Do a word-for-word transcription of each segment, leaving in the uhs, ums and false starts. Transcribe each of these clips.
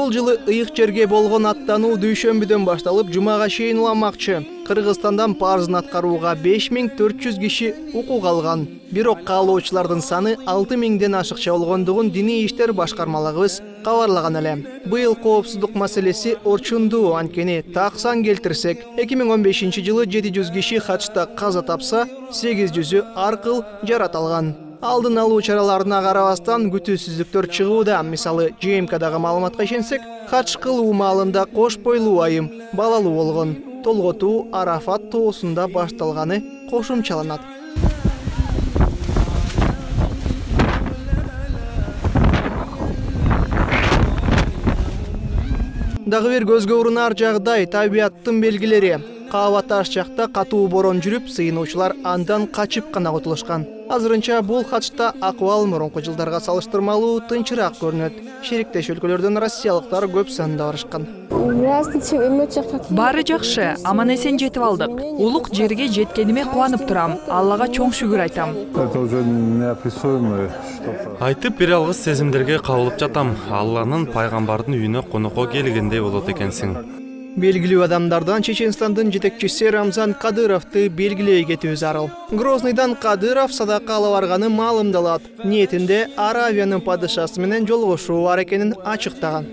Бул жылы ыйык жерге болгон аттануу дүйшөмбүдөн башталып, жумага чейин уламакчы. Кыргызстандан парызын аткарууга беш миң төрт жүз киши укук алган. Бирок каалоочулардын саны алты миңден ашыкча болгондугун диний иштер башкармалыгыбыз кабарлаган эле. Быйыл коопсуздук маселеси орчундуу, анткени таксан келтирсек, эки миң он бешинчи жылы жети жүз киши хачта каза тапса, сегиз жүзү аркыл жарат алган. Алдын алуу чараларына карабастан күтүүсүздүктөр чыгууда. Мисалы, Ж М Кдагы маалыматка ишенсек, хач кылуу маалында кош бойлуу айым балалуу болгон. Толготуу Арафат тоосунда башталганы кошумчаланат. Дагы бир көзгө урунар жагдай табиаттын белгилери. Каба таш жакта катуу борон жүрүп, сыйынуучулар андан качып гана кутулушкан. Азырынча бул хачта акыбал мурунку жылдарга салыштырмалуу тынчыраак көрүнөт. Шериктеш өлкөлөрдөн россиялыктар көп санда барышкан. Баары жакшы, аман эсен жетип алдык. Улук жерге жеткениме кубанып турам. Аллага чоң шүгүр айтам. Айтып бере алгыс сезимдерге кабылып жатам. Алланын пайгамбардын үйүнө конокко келгендей болот экенсиң. Белгилүү адамдардан Чеченстандын жетекчиси Рамзан Кадыровду белгилей кетүү зарыл. Грозныйдан Кадыров садака ала барганы маалымдалат. Ниетинде Аравиянын падышасы менен жолугушуу бар экенин ачыктаган.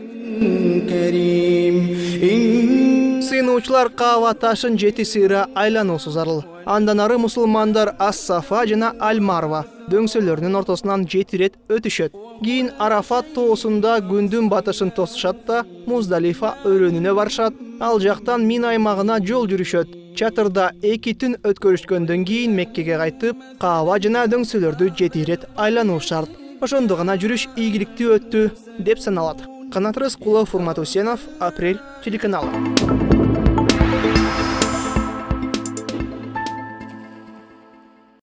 Сыйынуучулар Каба ташын жети сыйра айлануусу зарыл. Андан ары мусулмандар Ас-Сафа жана Аль-Марва дөңсөлөрүнүн ортосунан жети ирет өтүшөт. Кийин Арафат тоосунда күндүн батышын тосушат да Муздалифа өрөөнүнө барышат. Ал жактан Мин аймагына жол жүрүшөт. Чатырда эки түн өткөрүшкөндөн кийин Меккеге кайтып, Каба жана дөңсөлөрдү жети ирет айлануу шарт. Ошондо гана жүрүш ийгиликтүү өттү деп саналат. Канат Рыскулов, Урмат Усенов, Апрель телеканалы.